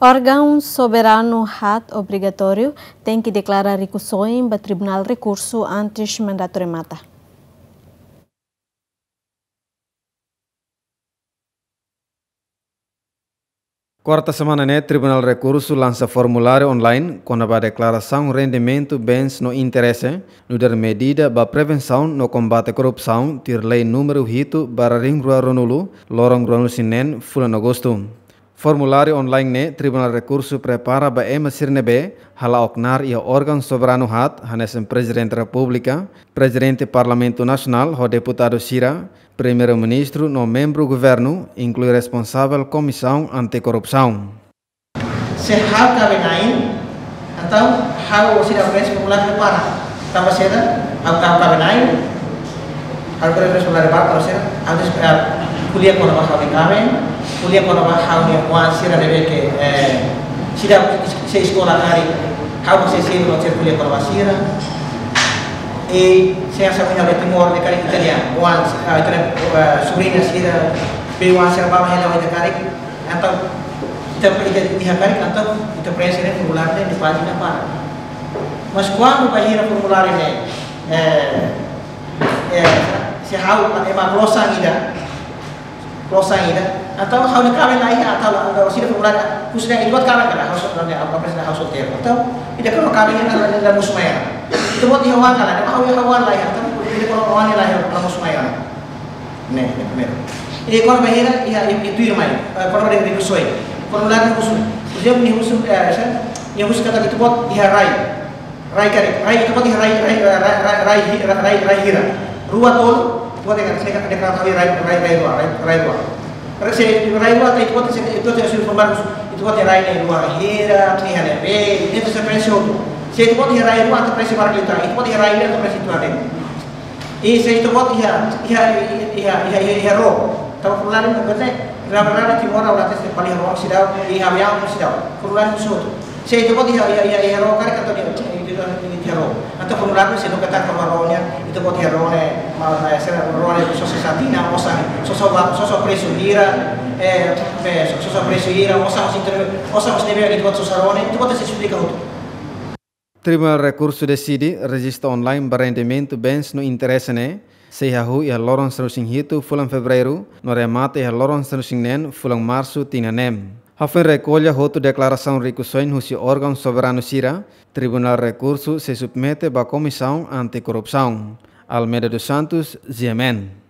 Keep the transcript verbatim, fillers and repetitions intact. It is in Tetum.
Órgaun soberanu haat obrigatóriu tenke deklara rikusoin ba Tribunál Rekursu antes mandatu remata. Kuarta semana ne'e, Tribunál Rekursu lansa formuláriu online kona-ba deklarasaun rendimentu, bens no interese, nu'udar medida ba prevensaun no kombate korrupsaun, tuir lei númeru hitu barra rihun rua ruanulu, loron ruanulu-resin-neen, fulan Agostu. Formuláriu online ne'e Tribunál Rekursu prepara ba ema sira ne'ebé hala'o knaar iha órgaun soberanu haat, hanesan Prezidente Repúblika, Prezidente Parlamentu Nasionál ho deputadu sira, Primeiru-Ministru no membru governu, inklui responsavel Komisaun Antikorrupsaun. Se ha'u kaben-na'in, entaun ha'u sei preenxe formuláriu para. Tanba saida, ha'u, ha'u kaben-na'in, ha'u preenxe formuláriu para, para saida, ha'u des-, eh, ko'alia kona-ba ha'u-nia kaben, ko'alia kona-ba ha'u-nia oan sira ne'ebé ke, eh, sira sei eskola karik, ha'u sei, sei, sei ko'alia kona-ba sira. I sei asa punya de Timor de karik italian, oan, eh, italian, eh, sobriña sira, be oan sira ba hela ita karik, entaun, ita, ita, ita karik, entaun, ita preenxe formuláriu ne'e iha pájina para. Mas kuandu bainhira formuláriu ne'e, eh, eh, se ha'u ema klosan ida, klosan ida, entaun ha'u-nia kaben la iha, entaun la, entaun sira formuláriu, khususnya ita-boot kaben karik, ha'u so-, la, ha'u, ha'u preenxe ha'u solteiru. Entaun, ida kona kaben ne'e la, la, la mosu mai ona. Ita-boot iha oan karik, ha'u iha oan la iha, entaun, ida kona oan la iha, la mosu mai ona. Ne'e, ne'e primeiru. I kona-ba hira, iha, iha, iha tuirmai. Eh, kona-ba rikusoin. Formuláriu husu. Husu, nia husu, eh, sa, nia husu katak ita-boot iha rai. Rai karik, rai ita-boot iha rai, rai, rai, rai, rai, hi-, rai, rai, rai hira. Rua tolu, ita-boot iha, se ka, de ka, rai, rai, rai rua, rai, rai rua. Rai se, rai rua, ita-boot se, ita-boot se, husu formuláriu husu. Ita-boot iha rai ne'e rua hira, nia iha ne'ebé, ita sei preenxe hotu. Se ita-boot iha rai rua, ita preenxe barak liután. Ita-boot iha rai hira, ita preenxe tuan de'it. I se ita-boot iha, iha, iha, iha, iha, iha ró. Tanba formuláriu ne'e, na verdade, Timor ha'u la hatene se fali iha ró seidauk, iha aviaun seidauk. Formuláriu husu hotu. Se ita-boot iha, iha, iha, iha ró, karik entaun ita, ita, ita, iha ró. Entaun formuláriu sei loke katak kona-ba ró nian, ita-boot iha ró ne'e, ma, ma, se ró ne'e sosa sá tinan, osan, sosa ba, sosa presu hira, eh, eh, so-, sosa presu hira, osan, osan, osan, osan ne'ebé ita-boot sosa ró ne'e, ita-boot sei esplika hotu. Tribunál Rekursu deside rejista online ba rendimentu, bens no interese ne'e sei hahú iha loron sanulu-resin-hitu fulan Fevereiru, no remata iha loron sanulu-resin-neen fulan Marsu tinan ne'e. Hafoin rekolla hotu deklarasaun rikusoin husi órgaun soberanu sira, Tribunál Rekursu sei submete ba Komisaun Antikorrupsaun. Almeida dos Santos, G M N.